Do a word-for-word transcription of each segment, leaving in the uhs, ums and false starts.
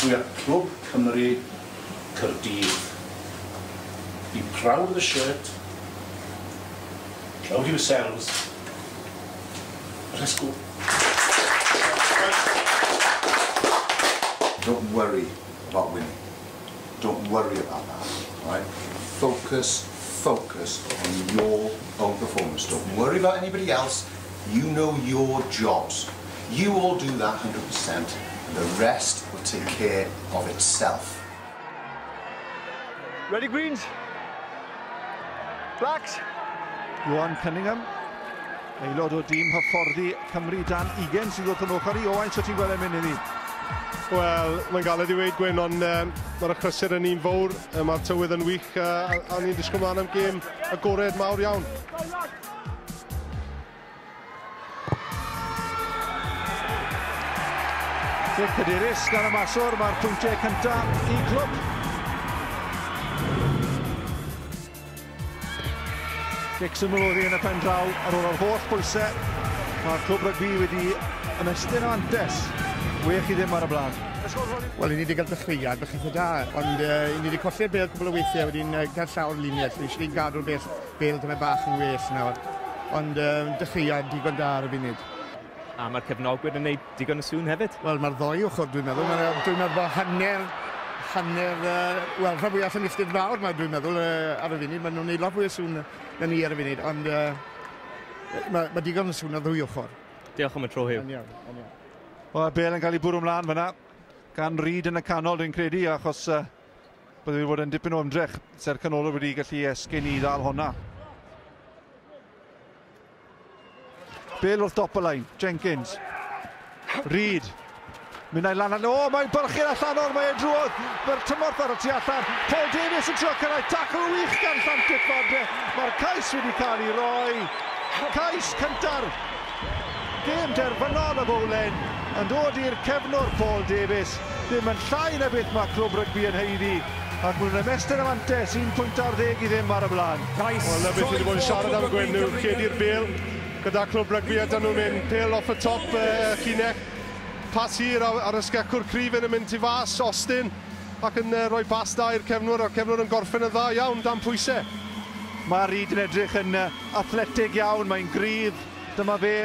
We are Clwb Cymru Caerdydd. Be proud of the shirt, proud of yourselves. Let's go. Don't worry about winning. Don't worry about that, right? Focus, focus on your own performance. Don't worry about anybody else. You know your jobs. You all do that one hundred percent, and the rest will take care of itself. Ready, Greens? Blacks? Johan Cunningham, aelod o dîm hyfforddi Cymru dan ugain sydd wrth yn ochr i. Owain, so ti'n gweld e'n mynd iddi? Wel, mae'n galed i weud, Gwyn, ond um, mae'r achlysur yn un fawr, mae'r tywydd yn wych, uh, a, a ni'n disgwyl mlaen am gêm agored mawr iawn. Cic hyderus gan y maswr, mae'r pwyntiau cyntaf i glwb. Cic syml oddi yn y pen draw ar ôl yr holl bwysau. Mae'r clwb rygbi wedi ymestyn o antes. Wech i ddim ar y blaen. Wel, i ni wedi cael dechreuad, bach eitha da, ond uh, i ni wedi colli'r bêl cwbl o weithiau, wedyn uh, cael llawr luniau, so eisiau gadw'r bêl, bêl dyma bach yn well nawr. Ond uh, dechreuad digon da ar y funud. A mae'r cefnogwyr yn gwneud digon o sŵn hefyd? Wel, mae'r ddoi ochr, dwi'n meddwl. Dwi'n meddwl bod hanner, hanner, uh, wel, rhan fwyaf Llanilltud Fawr, ma, dwi'n meddwl, uh, ar y funud. Maen nhw'n gwneud lot fwy o sŵn na ni ar y funud, ond uh, mae, mae digon o sŵn ar ddwy ochr. Diolch am y tro, Huw. Yn iawn, yn iawn. O, bêl yn cael ei bwrw ymlaen fyna gan Reid yn y canol, dwi'n credu, achos uh, bydd wedi bod yn dipyn o ymdrech. Se'r canolwr wedi gallu esgyn i ddal honna. Bêl wrth dop y lein, Jenkins. Reid. Mynd â'i lan, o, mae'n bylchu'r allanol, mae'n drwodd. Mae'r tymorth ar y tu allan. Paul Davies yn trio cyrraedd, tacl wych gan Llantit Fadre. Mae'r cais wedi cael ei roi. Cais cynta'r gêm derfynol y bowlen yn dod i'r cefnwr Paul Davies. Ddim yn llai na beth mae clwb rygbi yn haeddu. Ac maen nhw'n ymestyn y mantes, un pwynt ar ddeg i ddim ar y blaen. Wel, na beth wedi bod yn siarad am Gwyn nhw, lledu'r bêl gyda clwb rygbi a dyn nhw'n mynd pêl off y top uh, llinell. Pas hir ar, ar y sgecwr cryf yn mynd tu fas, Austin, ac yn uh, rhoi pas da i'r cefnwr, a'r cefnwr yn gorffen yn dda iawn dan pwysau. Mae Reid yn edrych yn uh, athletig iawn, mae'n gryf, dyma fe,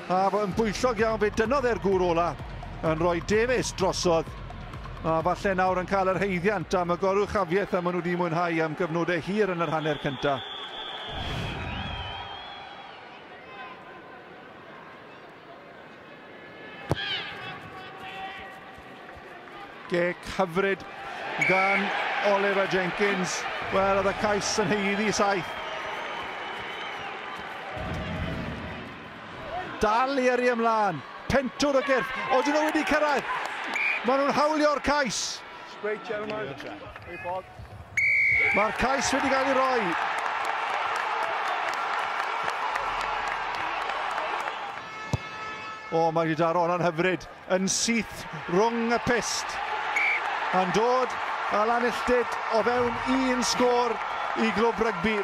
a yn bwyllog iawn, fe dynnodd e'r gŵr ola yn rhoi Davies drosodd. A falle nawr yn cael yr haeddiant am y goruchafiaeth a maen nhw wedi mwynhau am gyfnodau hir yn yr hanner cyntaf. Gic hyfryd gan Oliver Jenkins. Wel, oedd y cais yn haeddu saith. Dal i yrru ymlaen. Pentwr o gyrff. Odyn nhw wedi cyrraedd. Maen nhw'n hawlio'r cais. Mae'r cais wedi cael ei roi. O, mae wedi daro hwnna'n hyfryd. Yn syth rhwng y pyst. Yn dod â Llanilltud o fewn un sgôr i glwb rygbi.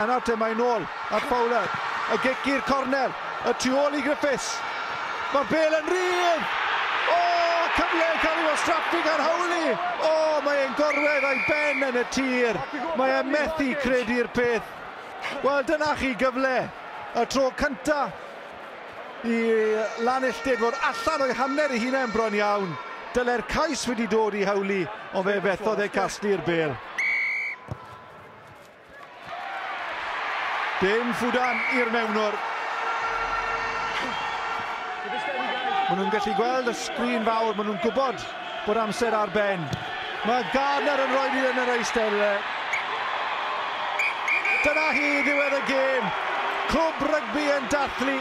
A nawr te mae'n nôl at Fowler. Y gic i'r cornel. Y tu ôl i Griffiths. Mae'r bêl yn rhydd! O, cyfle yn cael ei wastraffu gan Howley! O, mae e'n gorwedd a'i ben yn y tir. Mae e'n methu credu'r peth. Wel, dyna chi gyfle. Y tro cynta i Llanilltud fod allan o'i hanner ei hunain bron iawn. Dyle'r cais wedi dod i Howley, ond fe fethodd e casglu'r bêl. Dim ffwdan i'r mewnwr. Maen nhw'n gallu gweld y sgrin fawr, maen nhw'n gwybod bod amser ar ben. Mae Gardner yn rhoi hi yn yr eisteddle. Dyna hi ddiwedd y gêm. Clwb rygbi yn dathlu.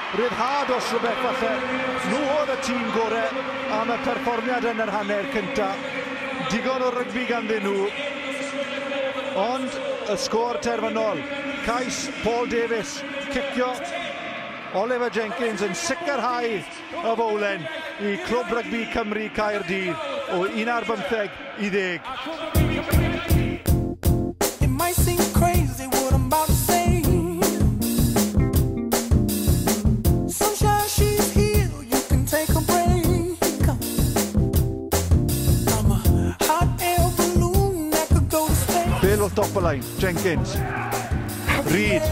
Rhyddhad os rhywbeth falle. Nhw oedd y tîm gorau am y perfformiad yn yr hanner cyntaf. Digon o rygbi ganddyn nhw. Ond y sgôr terfynol. Cais Paul Davies, cicio Oliver Jenkins yn sicrhau y fowlen i Clwb Rygbi Cymru Caerdydd o un ar bymtheg i ddeg. It might seem crazy what I'm about to say. Sunshine, she's here, you can take Top y lein, Jenkins. Reid.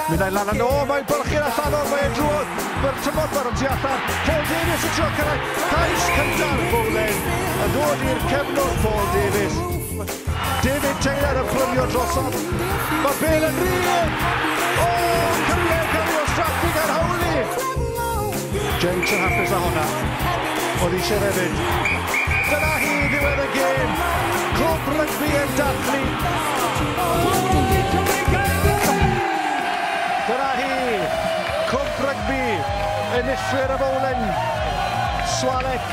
Mynd â'i lan o, mae'n bylchu'r allanol, mae'n drwodd. Mae'r tymor yn tu allan. Paul Davies yn trio cyrraedd. Cais cyntaf Bowlen. Yn dod i'r cefnwr Paul Davies. David Taylor yn plymio drosodd. Mae bêl yn rhydd. O, cyfle cael ei wastraffu gan Howley. Jenks yn hapus â hwnna. Oedd eisiau hefyd. Dyna hi ddiwedd y gêm. Clwb rygbi yn dathlu. Dyna hi. Clwb rygbi. Enillwyr y Bowlen. Swalec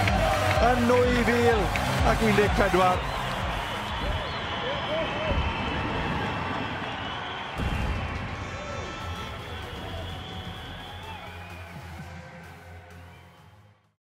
yn nwy fil ac un deg pedwar.